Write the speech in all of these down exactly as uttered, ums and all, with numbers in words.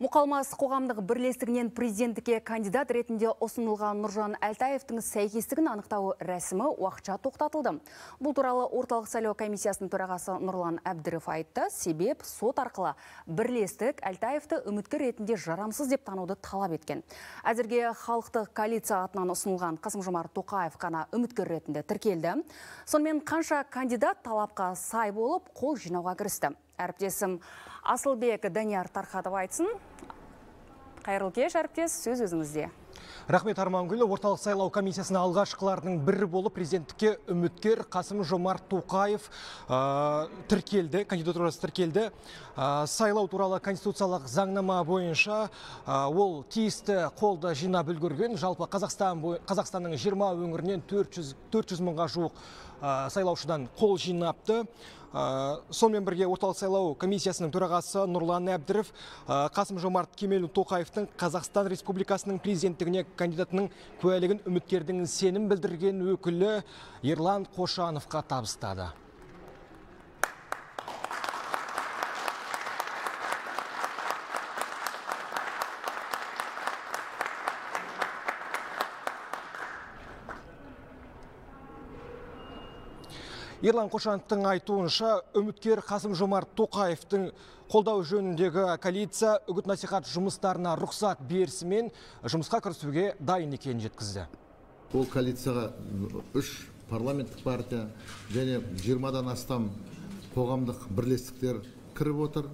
Мұқалмас қоғамдық бірлестігінен президенттікке кандидат ретінде ұсынылған Нұржан Әлтаевтың сәйкестігін анықтау рәсімі уақытша тоқтатылды. Бұл туралы орталық сайлау комиссиясының төрағасы Нұрлан Әбдіров айтты. Себеп сот арқылы бірлестік Әлтаевты үміткер ретінде жарамсыз деп тануды талап еткен. Әзірге халықтық коалиция атынан ұсынылған Қасым-Жомарт Тоқаев қана үміткер ретінде тіркелді. Сонымен қанша кандидат талапқа сай болып қол жинауға кірісті. Әріптесім Асылбек Данияр Тарқатов айтсын. Қайырлы кеш, әріптес, сөз өзіңізде. Рахмет, Армангүл. Орталық сайлау комиссиясына алғашқылардың бірі болып президенттікке үміткер Қасым-Жомарт Тоқаев ә, тіркелді, кандидатурасы тіркелді. Ә, сайлау туралы конституциялық заңнама бойынша ә, ол тиісті қолды жинап үлгерген. Жалпы Қазақстан, Қазақстанның жиырма өңірінен төрт жүз мыңға жуық ә, сайлаушыдан қол жинапты. Ә, сонымен бірге орталық сайлау комиссиясының төрағасы Нұрлан Әбдіров ә, Қасым-Жомарт Тоқаевтың Қазақстан Республикасының президенттігіне кандидатының куәлігін үміткердің сенім білдірген өкілі Ерлан Қошановқа табыстады. Ерлан Қошановтың айтуынша, үміткер Қасым-Жомарт Тоқаевтың қолдау жөніндегі коалиция үгіт-насихат жұмыстарына рұқсат берісімен жұмысқа кірісуге дайын екенін жеткізді. Ол коалицияға үш парламенттік партия және жиырмадан астам қоғамдық бірлестіктер кіріп отыр.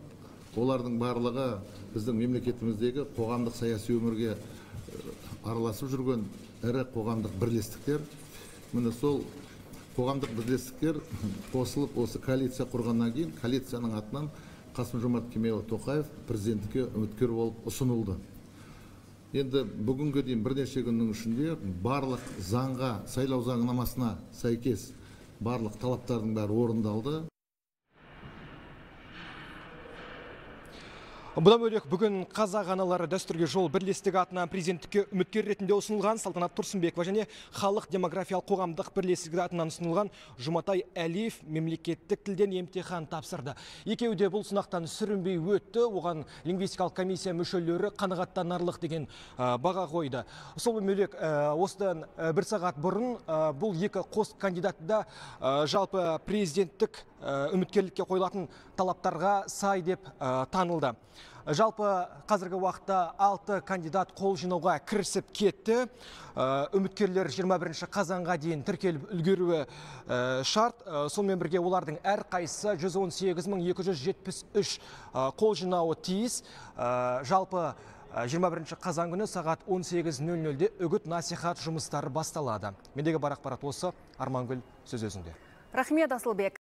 Олардың барлығы біздің мемлекетіміздегі қоғамдық саяси өмірге араласып жүрген ірі қоғамдық бірлестіктер. Міне сол қоғамдық бірлестіктер қосылып осы коалиция құрғаннан кейін коалицияның атынан Қасым-Жомарт Тоқаев президенттікке үміткер болып ұсынылды. Енді бүгінгі дейін бірнеше күннің ішінде барлық заңға, сайлау заңнамасына сәйкес барлық талаптардың бәрі орындалды. Бұдан бөлек бүгін қазақ аналары дәстүрге жол бірлестігі атынан президенттікке үміткер ретінде ұсынылған Салтанат Тұрсынбекова және халық демографиялық қоғамдық бірлестігі атынан ұсынылған Жұматай Әлиев мемлекеттік тілден емтихан тапсырды. Екеуі де бұл сынақтан сүрінбей өтті. Оған лингвистикалық комиссия мүшелері қанағаттанарлық деген баға қойды. Сол бөлек осыдан бір сағат бұрын бұл екі қос кандидатта жалпы президенттік үміткерлікке қойылатын талаптарға сай деп танылды. Жалпы қазіргі уақытта алты кандидат қол жинауға кірісіп кетті. Үміткерлер жиырма бірінші қазанға дейін тіркеліп үлгеруі шарт. Сонымен бірге олардың әр қайсысы жүз он сегіз мың екі жүз жетпіс үш қол жинауы тиіс. Жалпы жиырма бірінші қазан күні сағат он сегіз нөл нөлде үгіт насихат жұмыстары басталады. Мендегі бар ақпарат осы. Армангүл, сөз өзіңде. Рахмет, Асылбек.